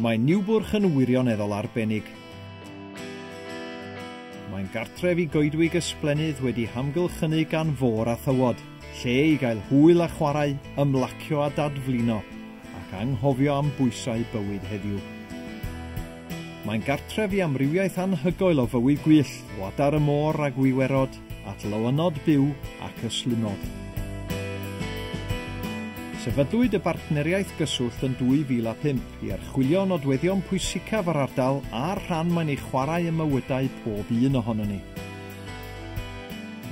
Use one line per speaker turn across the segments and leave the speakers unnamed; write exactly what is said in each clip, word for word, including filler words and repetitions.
Mae Niwbwrch yn wirioneddol arbennig. Mae'n gartref i goedwig ysblennydd wedi hamgylchynu gan fôr a thywod, lle i gael hwyl a chwarae, ymlacio a dadflino, ac anghofio am bwysau bywyd heddiw. Mae'n gartref i amrywiaeth anhygoel o fywyd gwyllt, o adar y môr a gwiwerod, at lywynod byw ac ystlumod. Sefydlwyd y bartneriaeth gyswllt yn dwy fil a pump i archwilio nodweddion pwysicaf yr ardal a'r rhan mae'n ei chwarae ym mywydau pob un ohonon ni.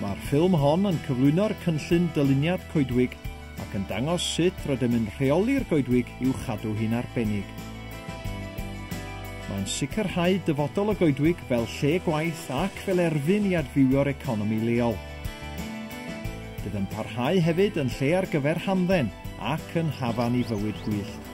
Mae'r ffilm hon yn cyflwyno'r cynllun dyluniad coedwig ac yn dangos sut rydym yn rheoli'r goedwig i'w chadw hi'n arbennig. Mae'n sicrhau dyfodol y goedwig fel lle gwaith ac fel erfyn i adfywio'r economi leol. Bydd yn parhau hefyd yn lle ar gyfer hamdden ac yn hafan i fywyd gwyllt.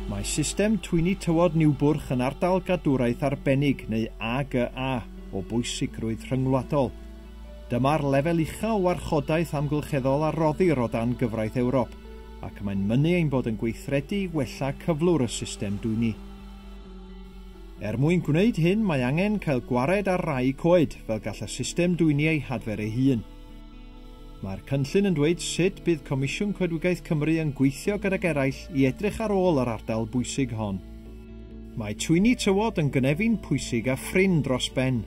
Mae system twyni tywod Niwbwrch yn ardal gadwraeth arbennig neu A G A o bwysigrwydd rhyngwladol. Dyma'r lefel ucha o warchodaeth amgylcheddol a roddir o dan gyfraith Ewrop, ac mae'n mynnu ein bod yn gweithredu i wella cyflwr y system dwyni. Er mwyn gwneud hyn, mae angen cael gwared ar rai coed, fel gall y system dwyni ei hadfer ei hun. Mae'r cynllun yn dweud sut bydd Comisiwn Coedwigaeth Cymru yn gweithio gydag eraill i edrych ar ôl yr ardal bwysig hon. Mae twyni tywod yn gynefin pwysig a phrin dros ben.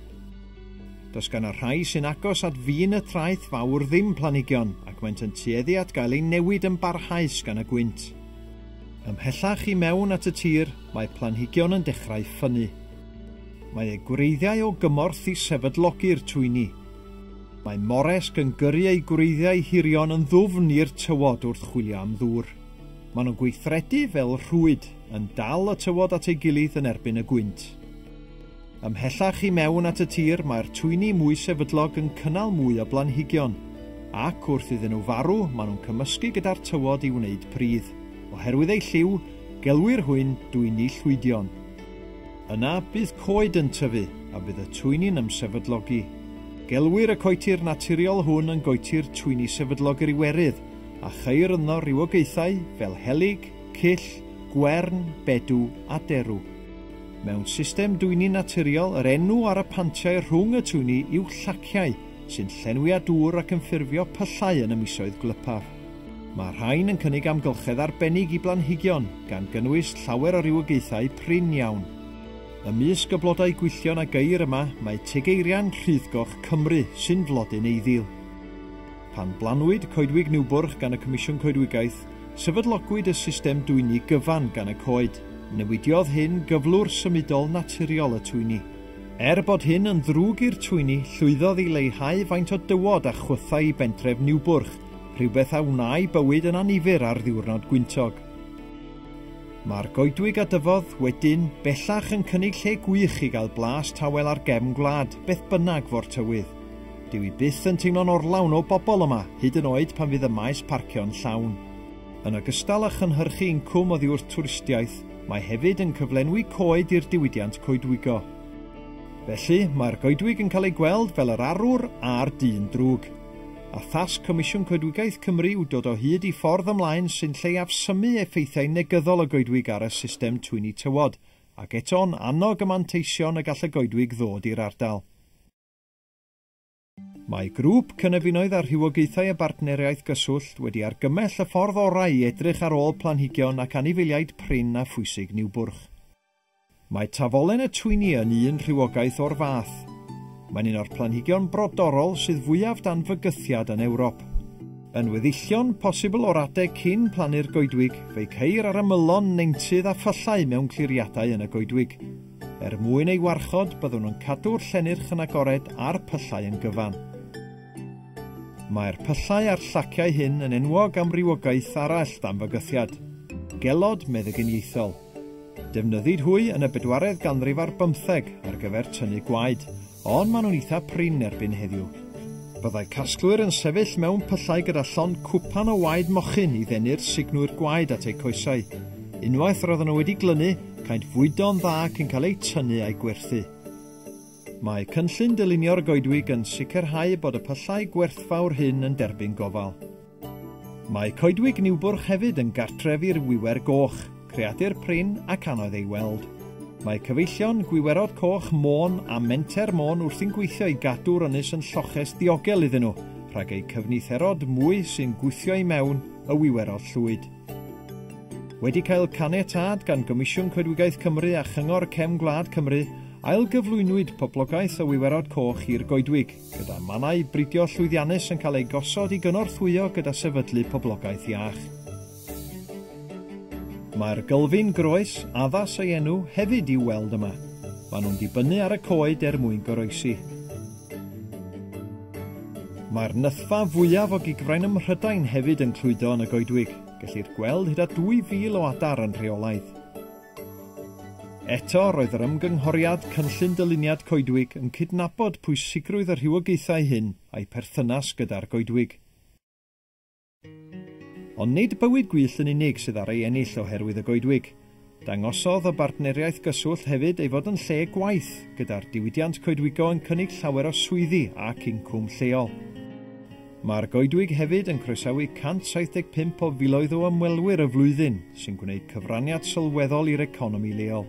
Does gan y rhai sy'n agos at fin y traeth fawr ddim planhigion, ac maent yn tueddu at gael eu newid yn barhaus gan y gwynt. Ymhellach i mewn at y tir, mae planhigion yn dechrau ffynnu. Mae eu gwreiddiau o gymorth i sefydlogi'r twyni. Mae moresg yn gyrru eu gwreiddiau hirion yn ddwfn i'r tywod wrth chwilio am ddŵr. Maen nhw'n gweithredu fel rhwyd, yn dal y tywod at ei gilydd yn erbyn y gwynt. Ymhellach i mewn at y tir, mae'r twyni mwy sefydlog yn cynnal mwy o blanhigion, ac wrth iddyn nhw farw, maen nhw'n cymysgu gyda'r tywod i wneud pridd. Oherwydd eu lliw, gelwir hwyn dwyni llwydion. Yna bydd coed yn tyfu, a bydd y twyni'n ymsefydlogi. Gelwir y coetir naturiol hwn yn goetir twyni sefydlog yr Iwerydd, a cheir yno rywogaethau fel helyg, cyll, gwern, bedw a derw. Mewn system dwyni naturiol, yr enw ar y pantiau rhwng y twyni yw llaciau, sy'n llenwi â dŵr ac yn ffurfio pyllau yn y misoedd gwlypaf. Mae rhain yn cynnig amgylchedd arbennig i blanhigion, gan gynnwys llawer o rywogaethau prin iawn. Ymysg y blodau gwylltion a geir yma, mae tegeirian rhyddgoch Cymru sy'n flodyn eiddil. Pan blanwyd coedwig Niwbwrch gan y Comisiwn Coedwigaeth, sefydlogwyd y system dwyni gyfan gan y coed. Newidiodd hyn gyflwr symudol naturiol y twyni. Er bod hyn yn ddrwg i'r twyni, llwyddodd i leihau faint o dywod a chwythau i bentref Niwbwrch, rhywbeth a wnâi bywyd yn annifyr ar ddiwrnod gwyntog. Mae'r goedwig a dyfodd wedyn bellach yn cynnig lle gwych i gael blas tawel ar gefn gwlad, beth bynnag fo'r tywydd. Dyw i byth yn teimlo'n orlawn o bobl yma, hyd yn oed pan fydd y maes parcio'n llawn. Yn ogystal â chynhyrchu incwm oddi wrth twristiaeth, mae hefyd yn cyflenwi coed i'r diwydiant coedwigo. Felly, mae'r goedwig yn cael ei gweld fel yr arwr a'r dyn drwg. A thasg Comisiwn Coedwigaeth Cymru yw dod o hyd i ffordd ymlaen sy'n lleiafsymu effeithiau negyddol y goedwig ar y system twyni tywod, ac eto'n annog y manteision y gall y goedwig ddod i'r ardal. Mae grŵp cynefinoedd a rhywogaethau y bartneriaeth gyswllt wedi argymell y ffordd orau i edrych ar ôl planhigion ac anifeiliaid prin a phwysig Niwbwrch. Mae tafolen y twyni yn un rhywogaeth o'r fath. Mae'n un o'r planhigion brodorol sydd fwyaf dan fygythiad yn Ewrop. Yn weddillion posibl o'r adeg cyn plannu'r goedwig, fe'i ceir ar ymylon, neintydd a phyllau mewn cliriadau yn y goedwig. Er mwyn ei warchod, byddwn yn cadw'r llennyrch yn agored a'r pyllau yn gyfan. Mae'r pyllau a'r llaciau hyn yn enwog am rywogaeth arall dan fygythiad, gelod meddyginiaethol. Defnyddid hwy yn y bedwaredd ganrif ar bymtheg ar gyfer tynnu gwaed, ond maen nhw'n eitha prin erbyn heddiw. Byddai casglwyr yn sefyll mewn pyllau gyda llond cwpan o waed mochyn i ddenu'r sugnwyr gwaed at eu coesau. Unwaith roedden nhw wedi glynu, caent fwydo'n dda cyn cael eu tynnu a'u gwerthu. Mae cynllun dylunio'r goedwig yn sicrhau bod y pyllau gwerthfawr hyn yn derbyn gofal. Mae coedwig Niwbwrch hefyd yn gartref i'r wiwer goch, creadur prin ac anodd ei weld. Mae cyfeillion gwiwerod coch Môn a Menter Môn wrthi'n gweithio i gadw'r ynys yn lloches diogel iddyn nhw, rhag eu cyfnitherod mwy sy'n gwthio i mewn y wiwerod llwyd. Wedi cael caniatâd gan Gomisiwn Coedwigaeth Cymru a Chyngor Cefn Gwlad Cymru, ailgyflwynwyd poblogaeth y wiwerod coch i'r goedwig, gyda mannau bridio llwyddiannus yn cael eu gosod i gynorthwyo gyda sefydlu poblogaeth iach. Mae'r gylfin groes, addas ei enw, hefyd i'w weld yma. Maen nhw'n dibynnu ar y coed er mwyn goroesi. Mae'r nythfa fwyaf o gigfrain ym Mhrydain hefyd yn clwydo yn y goedwig. Gellir gweld hyd at dwy fil o adar yn rheolaidd. Eto, roedd yr ymgynghoriad cynllun dyluniad coedwig yn cydnabod pwysigrwydd y rhywogaethau hyn a'i perthynas gyda'r goedwig. Ond nid bywyd gwyllt yn unig sydd ar ei ennill oherwydd y goedwig. Dangosodd y bartneriaeth gyswllt hefyd ei fod yn lle gwaith, gyda'r diwydiant coedwigo yn cynnig llawer o swyddi ac incwm lleol. Mae'r goedwig hefyd yn croesawu cant saith deg pump o filoedd o ymwelwyr y flwyddyn, sy'n gwneud cyfraniad sylweddol i'r economi leol.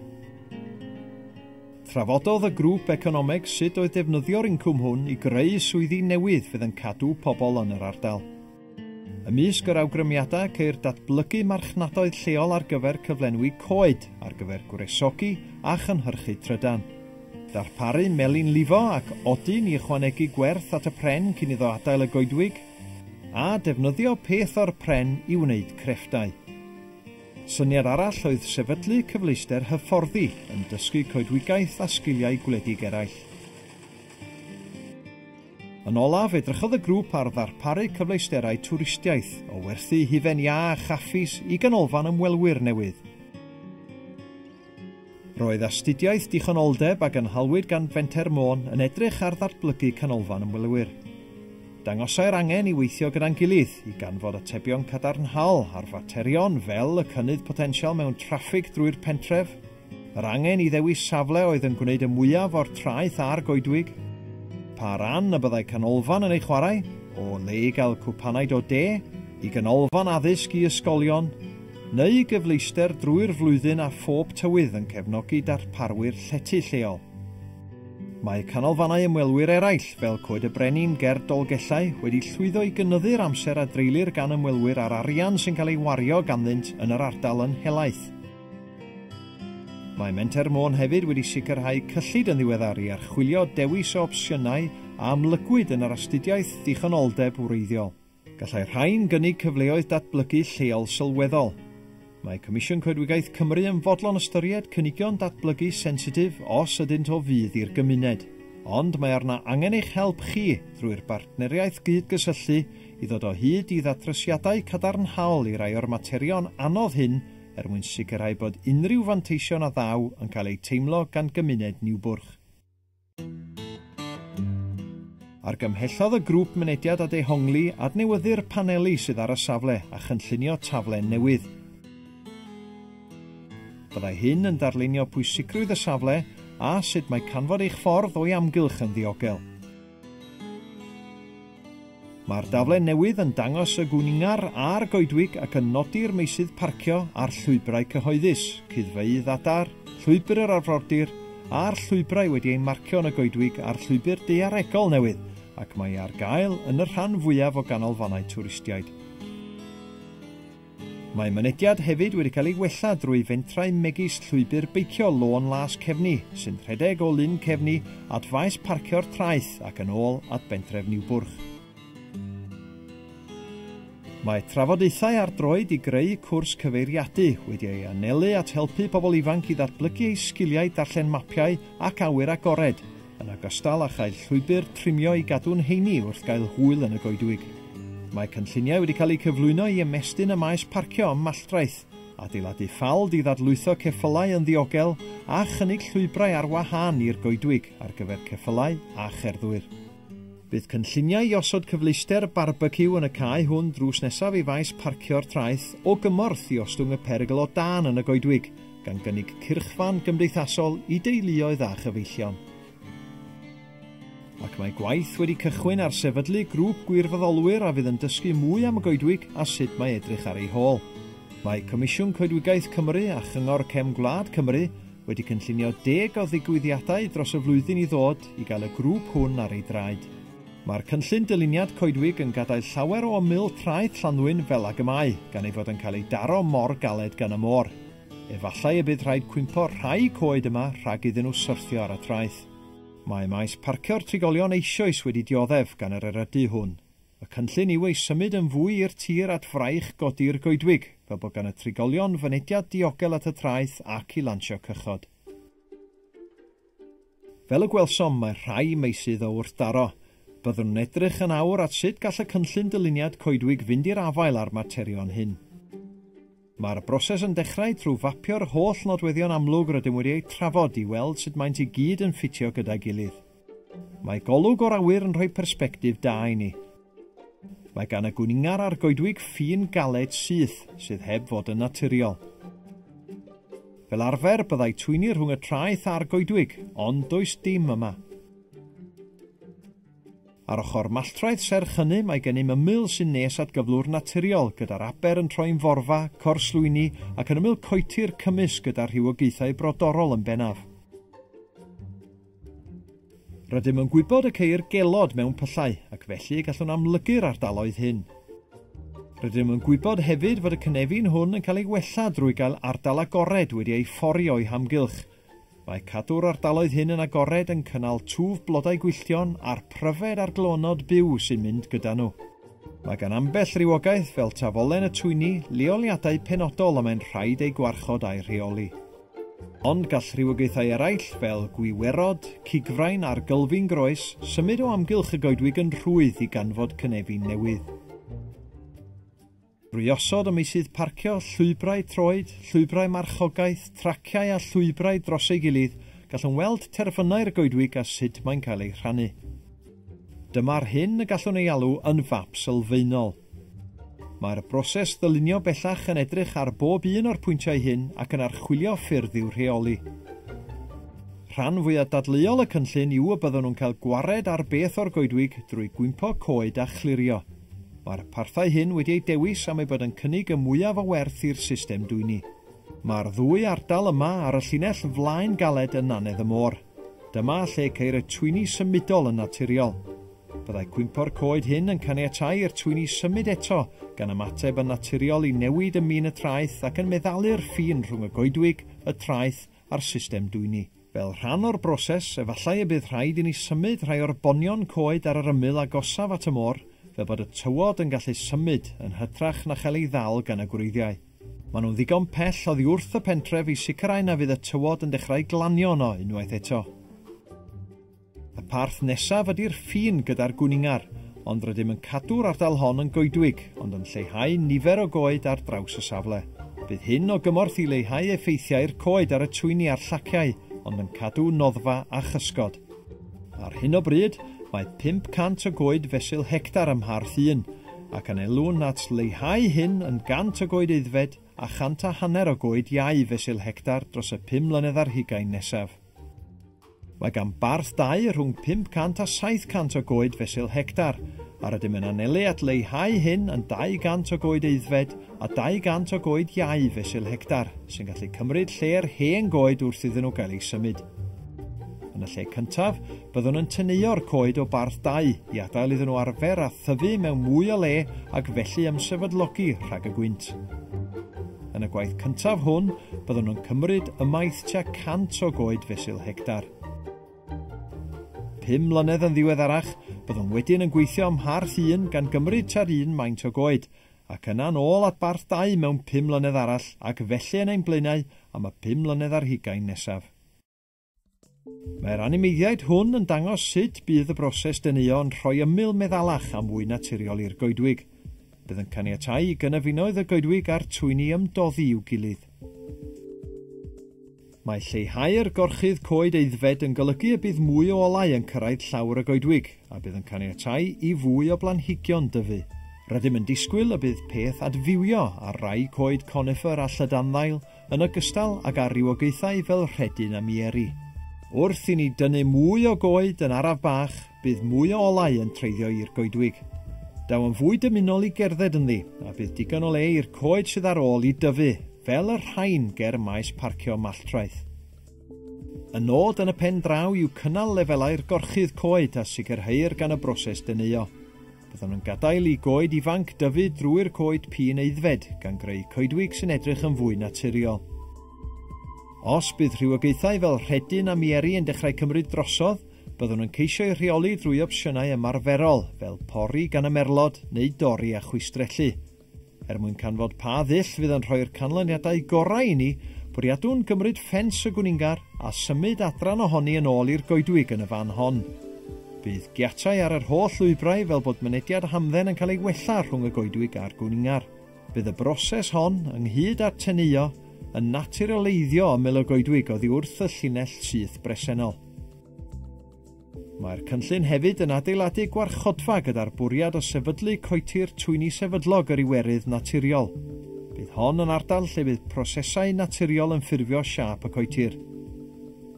Trafododd y grŵp economeg sut oedd defnyddio'r incwm hwn i greu swyddi newydd fydd yn cadw pobl yn yr ardal. Ymysg yr awgrymiadau ceir datblygu marchnadoedd lleol ar gyfer cyflenwi coed, ar gyfer gwresogi a chynhyrchu trydan. Darparu melin lifo ac odyn i ychwanegu gwerth at y pren cyn iddo adael y goedwig, a defnyddio peth o'r pren i wneud crefftau. Syniad arall oedd sefydlu cyfleuster hyfforddi yn dysgu coedwigaeth a sgiliau gwledig eraill. Yn olaf, edrychodd y grŵp ar ddarparu cyfleusterau twristiaeth o werthu hufen iâ a chaffis i ganolfan ymwelwyr newydd. Roedd astudiaeth dichonoldeb a gynhalwyd gan Fenter Môn yn edrych ar ddatblygu canolfan ymwelwyr. Dangosai'r angen i weithio gyda'n gilydd i ganfod atebion cadarnhaol ar faterion fel y cynnydd potensial mewn traffig drwy'r pentref, yr angen i ddewis safle oedd yn gwneud y mwyaf o'r traeth a'r goedwig, pa ran y byddai canolfan yn ei chwarae, o le i gael cwpanaid o de, i ganolfan addysg i ysgolion, neu gyfleuster drwy'r flwyddyn a phob tywydd yn cefnogi darparwyr llety lleol. Mae canolfannau ymwelwyr eraill, fel Coed y Brenin ger Dolgellau, wedi llwyddo i gynyddu'r amser a dreulir gan ymwelwyr a'r arian sy'n cael ei wario ganddynt yn yr ardal yn helaeth. Mae Menter Môn hefyd wedi sicrhau cyllid yn ddiweddar i archwilio dewis o opsiynau a amlygwyd yn yr astudiaeth ddichonoldeb wreiddiol. Gallai rhain gynnig cyfleoedd datblygu lleol sylweddol. Mae Comisiwn Coedwigaeth Cymru yn fodlon ystyried cynigion datblygu sensitif os ydynt o fudd i'r gymuned. Ond mae arna angen eich help chi drwy'r bartneriaeth gyd-gysylltu i ddod o hyd i ddatrysiadau cadarnhaol i rai o'r materion anodd hyn er mwyn sicrhau bod unrhyw fanteision a ddaw yn cael eu teimlo gan gymuned Niwbwrch. Argymhellodd y grŵp mynediad a dehongli adnewyddu'r paneli sydd ar y safle a chynllunio taflen newydd. Byddai hyn yn darlunio pwysigrwydd y safle a sut mae canfod eich ffordd o'i amgylch yn ddiogel. Mae'r daflen newydd yn dangos y gwningar a'r goedwig ac yn nodi'r meysydd parcio a'r llwybrau cyhoeddus, cuddfeydd adar, llwybr yr arfordir a'r llwybrau wedi eu marcio yn y goedwig a'r llwybr daearegol newydd, ac mae ar gael yn y rhan fwyaf o ganolfannau twristiaid. Mae mynediad hefyd wedi cael ei wella drwy fentrau megis llwybr beicio Lôn Las Cefni, sy'n rhedeg o Lyn Cefni at faes parcio'r traeth ac yn ôl at bentref Niwbwrch. Mae trafodaethau ar droed i greu cwrs cyfeiriadu wedi ei anelu at helpu pobl ifanc i ddatblygu eu sgiliau darllen mapiau ac awyr agored, yn ogystal â chael llwybr trimio i gadw'n heini wrth gael hwyl yn y goedwig. Mae cynlluniau wedi cael eu cyflwyno i ymestyn y maes parcio ym Malltraeth, adeiladu ffald i ddadlwytho ceffylau yn ddiogel a chynnig llwybrau ar wahân i'r goedwig ar gyfer ceffylau a cherddwyr. Bydd cynlluniau i osod cyfleuster barbeciw yn y cae hwn drws nesaf i faes parcio'r traeth o gymorth i ostwng y perygl o dân yn y goedwig, gan gynnig cyrchfan gymdeithasol i deuluoedd a chyfeillion. Ac mae gwaith wedi cychwyn ar sefydlu grŵp gwirfoddolwyr a fydd yn dysgu mwy am y goedwig a sut mae edrych ar ei hôl. Mae Comisiwn Coedwigaeth Cymru a Chyngor Cefn Gwlad Cymru wedi cynllunio deg o ddigwyddiadau dros y flwyddyn i ddod i gael y grŵp hwn ar ei draed. Mae'r cynllun dyluniad coedwig yn gadael llawer o ymyl traeth Llanddwyn fel ag y mae, gan ei fod yn cael ei daro mor galed gan y môr. Efallai y bydd rhaid cwympo rhai coed yma rhag iddyn nhw syrthio ar y traeth. Mae maes parcio'r trigolion eisoes wedi dioddef gan yr erydu hwn. Y cynllun yw ei symud yn fwy i'r tir at fraich godi'r goedwig, fel bod gan y trigolion fynediad diogel at y traeth ac i lansio cychod. Fel y gwelsom, mae rhai meysydd o wrthdaro. Byddwn yn edrych yn awr at sut gall y cynllun dyluniad coedwig fynd i'r afael â'r materion hyn. Mae'r broses yn dechrau trwy fapio'r holl nodweddion amlwg rydym wedi eu trafod i weld sut maent i gyd yn ffitio gyda'i gilydd. Mae golwg o'r awyr yn rhoi persbectif da i ni. Mae gan y gwningar a'r goedwig ffin galed syth sydd heb fod yn naturiol. Fel arfer byddai twyni rhwng y traeth a'r goedwig, ond does dim yma. Ar ochr Malltraeth serch hynny mae gennym ymyl sy'n nes at gyflwr naturiol, gyda'r aber yn troi'n forfa, corslwyni ac yn ymyl coetir cymysg gyda rhywogaethau brodorol yn bennaf. Rydym yn gwybod y ceir gelod mewn pyllau ac felly gallwn amlygu'r ardaloedd hyn. Rydym yn gwybod hefyd fod y cynefin hwn yn cael ei wella drwy gael ardal agored wedi ei fforio o'i hamgylch. Mae cadw'r ardaloedd hyn yn agored yn cynnal twf blodau gwylltion a'r pryfed a'r glonod byw sy'n mynd gyda nhw. Mae gan ambell rywogaeth fel tafolen y twyni leoliadau penodol y mae'n rhaid eu gwarchod a'u rheoli. Ond gall rhywogaethau eraill fel gwiwerod, cigfrain a'r gylfin groes symud o amgylch y goedwig yn rhwydd i ganfod cynefin newydd. Drwy osod y meysydd parcio, llwybrau troed, llwybrau marchogaeth, traciau a llwybrau dros ei gilydd, gallwn weld terfynau'r goedwig a sut mae'n cael ei rhannu. Dyma'r hyn y gallwn ei alw yn fap sylfaenol. Mae'r broses ddylunio bellach yn edrych ar bob un o'r pwyntiau hyn ac yn archwilio ffyrdd i'w rheoli. Rhan fwyaf dadleuol y cynllun yw y byddwn nhw'n cael gwared ar beth o'r goedwig drwy gwympo coed a chlirio. Mae'r parthau hyn wedi eu dewis am eu bod yn cynnig y mwyaf o werth i'r system dwyni. Mae'r ddwy ardal yma ar y llinell flaen galed yn nannedd y môr. Dyma lle ceir y twyni symudol yn naturiol. Byddai cwympo'r coed hyn yn caniatáu i'r twyni symud eto, gan ymateb yn naturiol i newid ym min y traeth ac yn meddalu'r ffin rhwng y goedwig, y traeth a'r system dwyni. Fel rhan o'r broses, efallai y bydd rhaid i ni symud rhai o'r bonion coed ar yr ymyl agosaf at y môr, fel bod y tywod yn gallu symud yn hytrach na chael ei ddal gan y gwreiddiau. Maen nhw'n ddigon pell oddi wrth y pentref i sicrhau na fydd y tywod yn dechrau glanio yno unwaith eto. Y parth nesaf ydy'r ffin gyda'r gwningar, ond rydym yn cadw'r ardal hon yn goedwig, ond yn lleihau nifer o goed ar draws y safle. Bydd hyn o gymorth i leihau effeithiau'r coed ar y twyni a'r llaciau, ond yn cadw noddfa a chysgod. Ar hyn o bryd, mae pump cant o goed fesul hectar ym Mharth un, ac anelwn at leihau hyn yn gant o goed aeddfed a chant a hanner o goed iau fesul hectar dros y pum mlynedd ar hugain nesaf. Mae gan Barth dau rhwng pump cant a saith cant o goed fesul hectar, a rydym yn anelu at leihau hyn yn dau gant o goed aeddfed a dau gant o goed iau fesul hectar, sy'n gallu cymryd lle'r hen goed wrth iddyn nhw gael eu symud. Yn y lle cyntaf, byddwn yn tyneuo'r coed o Barth dau i adael iddyn nhw arfer a thyfu mewn mwy o le ac felly ymsefydlogi rhag y gwynt. Yn y gwaith cyntaf hwn, byddwn yn cymryd ymaith tua cant o goed fesul hectar. Pum mlynedd yn ddiweddarach, byddwn wedyn yn gweithio ym Mharth un gan gymryd tua'r un maint o goed, ac yna'n ôl at Barth dau mewn pum mlynedd arall ac felly yn ein blaenau am y pum mlynedd ar hugain nesaf. Mae'r animeiddiaid hwn yn dangos sut bydd y broses dyneuo yn rhoi ymyl meddalach a mwy naturiol i'r goedwig. Bydd yn caniatáu i gynefinoedd y goedwig a'r twyni ymdoddi i'w gilydd. Mae lleihau'r gorchudd coed aeddfed yn golygu y bydd mwy o olau yn cyrraedd llawr y goedwig a bydd yn caniatáu i fwy o blanhigion dyfu. Rydym yn disgwyl y bydd peth adfywio ar rai coed conifer a llydanddail yn ogystal ag ar rywogaethau fel rhedyn a mieri. Wrth i ni dynnu mwy o goed yn araf bach, bydd mwy o olau yn treiddio i'r goedwig. Daw yn fwy dymunol i gerdded ynddi, a bydd digon o le i'r coed sydd ar ôl i dyfu, fel y rhain ger maes parcio Malltraeth. Y nod yn y pen draw yw cynnal lefelau'r gorchudd coed a sicrheir gan y broses deneuo. Byddwn yn gadael i goed ifanc dyfu drwy'r coed pîn aeddfed, gan greu coedwig sy'n edrych yn fwy naturiol. Os bydd rhywogaethau fel rhedyn a mieri yn dechrau cymryd drosodd, byddwn yn ceisio eu rheoli drwy opsiynau ymarferol, fel pori gan y merlod neu dorri a chwistrellu. Er mwyn canfod pa ddull fydd yn rhoi'r canlyniadau gorau i ni, bwriadwn gymryd ffens y gwningar a symud adran ohoni yn ôl i'r goedwig yn y fan hon. Bydd giatau ar yr holl lwybrau fel bod mynediad hamdden yn cael ei wella rhwng y goedwig a'r gwningar. Bydd y broses hon, ynghyd â'r teneuo, yn naturialeiddio ymyl y goedwig oddi wrth y llinell syth bresennol. Mae'r cynllun hefyd yn adeiladu gwarchodfa gyda'r bwriad o sefydlu coetir twyni sefydlog yr Iwerydd naturiol. Bydd hon yn ardal lle bydd prosesau naturiol yn ffurfio siâp y coetir.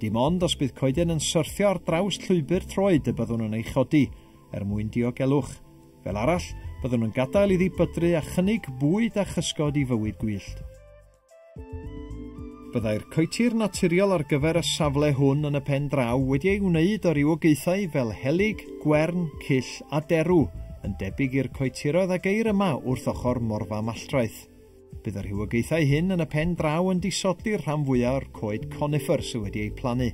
Dim ond os bydd coeden yn syrthio ar draws llwybr troed y byddwn yn ei chodi, er mwyn diogelwch. Fel arall, byddwn yn gadael iddi bydru a chynnig bwyd a chysgod i fywyd gwyllt. Byddai'r coetir naturiol ar gyfer y safle hwn yn y pen draw wedi ei wneud o rywogaethau fel helyg, gwern, cyll a derw, yn debyg i'r coetiroedd a geir yma wrth ochr Morfa Malltraeth. Bydd y rhywogaethau hyn yn y pen draw yn disodli'r rhan fwyaf o'r coed conifer sydd wedi eu plannu.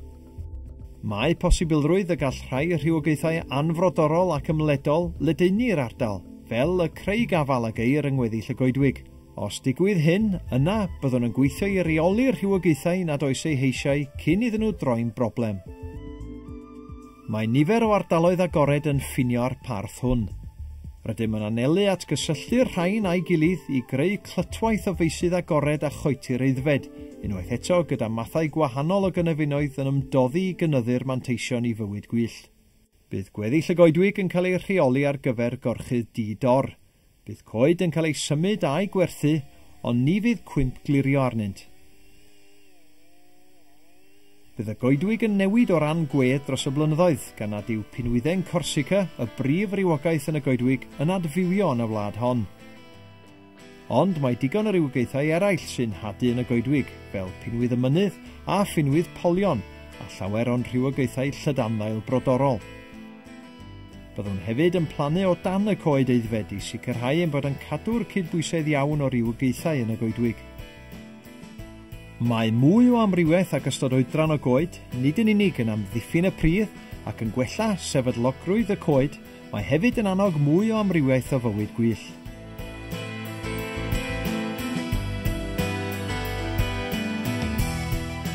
Mae posibilrwydd y gall rhai rhywogaethau anfrodorol ac ymledol ledaenu'r ardal, fel y craig afal a geir yng ngweddill y goedwig. Os digwydd hyn, yna byddwn yn gweithio i reoli'r rhywogaethau nad oes eu heisiau cyn iddyn nhw droi'n broblem. Mae nifer o ardaloedd agored yn ffinio'r parth hwn. Rydym yn anelu at gysylltu'r rhain a'i gilydd i greu clytwaith o feysydd agored a choetir aeddfed, unwaith eto gyda mathau gwahanol o gynefinoedd yn ymdoddi i gynyddu'r manteision i fywyd gwyllt. Bydd gweddill y goedwig yn cael ei rheoli ar gyfer gorchudd di-dor. Bydd coed yn cael ei symud a'i gwerthu, ond ni fydd cwymp glirio arnynt. Bydd y goedwig yn newid o ran gwedd dros y blynyddoedd, gan nad yw pinwydden Corsica, y brif rywogaeth yn y goedwig, yn adfywio yn y wlad hon. Ond mae digon o rywogaethau eraill sy'n hadu yn y goedwig, fel pinwydd y mynydd a phinwydd polion, a llawer o'n rhywogaethau llydanddail brodorol. Byddwn hefyd yn plannu o dan y coed aeddfed i sicrhau ein bod yn cadw'r cydbwysedd iawn o rywogaethau yn y goedwig. Mae mwy o amrywiaeth ac ystod oedran o goed, nid yn unig yn amddiffyn y pridd ac yn gwella sefydlogrwydd y coed, mae hefyd yn annog mwy o amrywiaeth o fywyd gwyllt.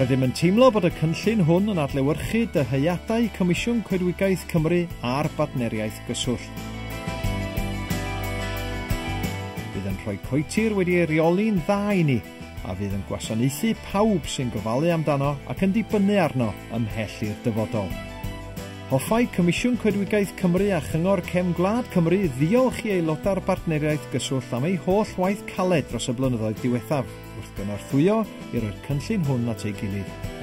Rydym yn teimlo bod y cynllun hwn yn adlewyrchu dyheadau Comisiwn Coedwigaeth Cymru a'r Bartneriaeth Gyswllt. Bydd yn rhoi coetir wedi ei reoli'n dda i ni, a fydd yn gwasanaethu pawb sy'n gofalu amdano ac yn dibynnu arno ymhell i'r dyfodol. Hoffai Comisiwn Coedwigaeth Cymru a Chyngor Cefn Gwlad Cymru ddiolch i aelodau'r Bartneriaeth Gyswllt am eu holl waith caled dros y blynyddoedd diwethaf, wrth gynorthwyo i roi'r cynllun hwn at ei gilydd.